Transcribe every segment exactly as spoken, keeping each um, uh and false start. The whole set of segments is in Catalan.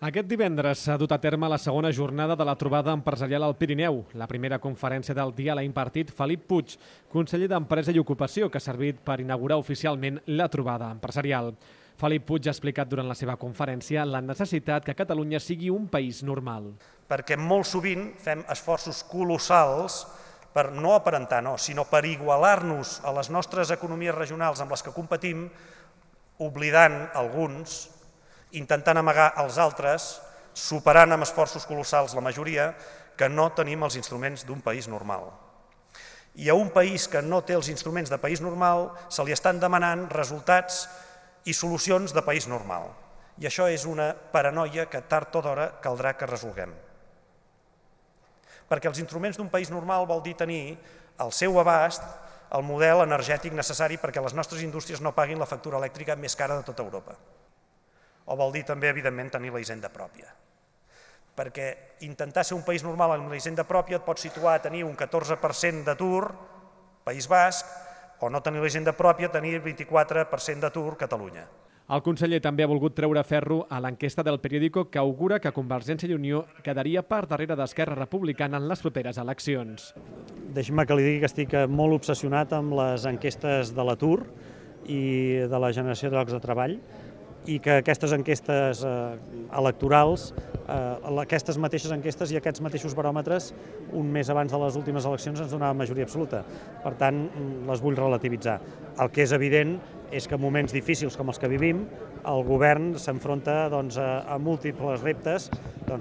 Aquest divendres s'ha dut a terme la segona jornada de la trobada empresarial al Pirineu. La primera conferència del dia l'ha impartit Felip Puig, conseller d'Empresa i Ocupació, que ha servit per inaugurar oficialment la trobada empresarial. Felip Puig ha explicat durant la seva conferència la necessitat que Catalunya sigui un país normal. Perquè molt sovint fem esforços colossals per no aparentar, no, sinó per igualar-nos a les nostres economies regionals amb les que competim, oblidant alguns, intentant amagar els altres, superant amb esforços colossals la majoria, que no tenim els instruments d'un país normal. I a un país que no té els instruments de país normal se li estan demanant resultats i solucions de país normal. I això és una paranoia que tard o d'hora caldrà que resolguem. Perquè els instruments d'un país normal vol dir tenir al seu abast el model energètic necessari perquè les nostres indústries no paguin la factura elèctrica més cara de tota Europa. O vol dir també, evidentment, tenir la hisenda pròpia. Perquè intentar ser un país normal amb la hisenda pròpia et pot situar a tenir un catorze per cent d'atur, País Basc, o no tenir la hisenda pròpia, tenir el vint-i-quatre per cent d'atur, Catalunya. El conseller també ha volgut treure ferro a l'enquesta del periòdico que augura que Convergència i Unió quedaria per darrere d'Esquerra Republicana en les properes eleccions. Deixi'm que li digui que estic molt obsessionat amb les enquestes de l'atur i de la generació de llocs de treball, i que aquestes enquestes electorals, aquestes mateixes enquestes i aquests mateixos baròmetres, un mes abans de les últimes eleccions ens donaven majoria absoluta. Per tant, les vull relativitzar. El que és evident és que en moments difícils com els que vivim, el govern s'enfronta a múltiples reptes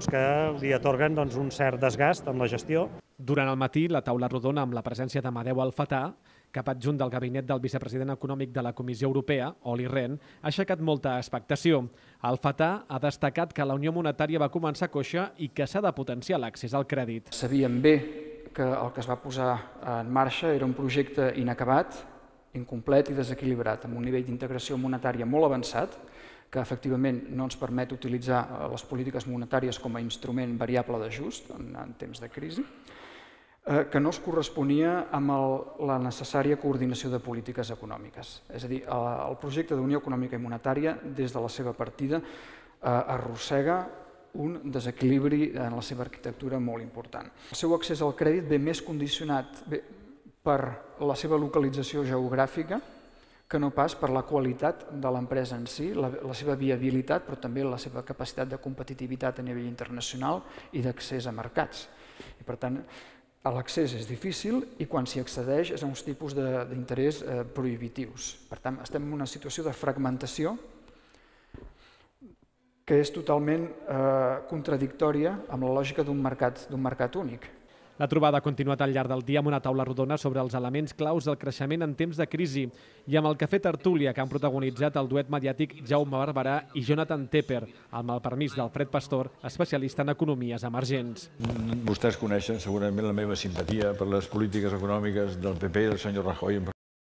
que li atorguen un cert desgast en la gestió. Durant el matí, la taula rodona amb la presència d'Amadeu Alfatà, cap adjunt del gabinet del vicepresident econòmic de la Comissió Europea, Olli Rehn, ha aixecat molta expectació. Alfatà ha destacat que la Unió Monetària va començar coixa i que s'ha de potenciar l'accés al crèdit. Sabíem bé que el que es va posar en marxa era un projecte inacabat, incomplet i desequilibrat, amb un nivell d'integració monetària molt avançat, que efectivament no ens permet utilitzar les polítiques monetàries com a instrument variable d'ajust en temps de crisi, que no es corresponia amb la necessària coordinació de polítiques econòmiques. És a dir, el projecte d'Unió Econòmica i Monetària, des de la seva partida, arrossega un desequilibri en la seva arquitectura molt important. El seu accés al crèdit ve més condicionat per la seva localització geogràfica que no pas per la qualitat de l'empresa en si, la seva viabilitat, però també la seva capacitat de competitivitat a nivell internacional i d'accés a mercats. I per tant, l'accés és difícil i quan s'hi accedeix és a uns tipus d'interès prohibitius. Per tant, estem en una situació de fragmentació que és totalment contradictòria amb la lògica d'un mercat únic. La trobada ha continuat al llarg del dia amb una taula rodona sobre els elements claus del creixement en temps de crisi i amb el cafè tertúlia que han protagonitzat el duet mediàtic Jaume Barberà i Jonathan Tepper, amb el permís d'Alfred Pastor, especialista en economies emergents. Vostès coneixen segurament la meva simpatia per les polítiques econòmiques del P P i del senyor Rajoy.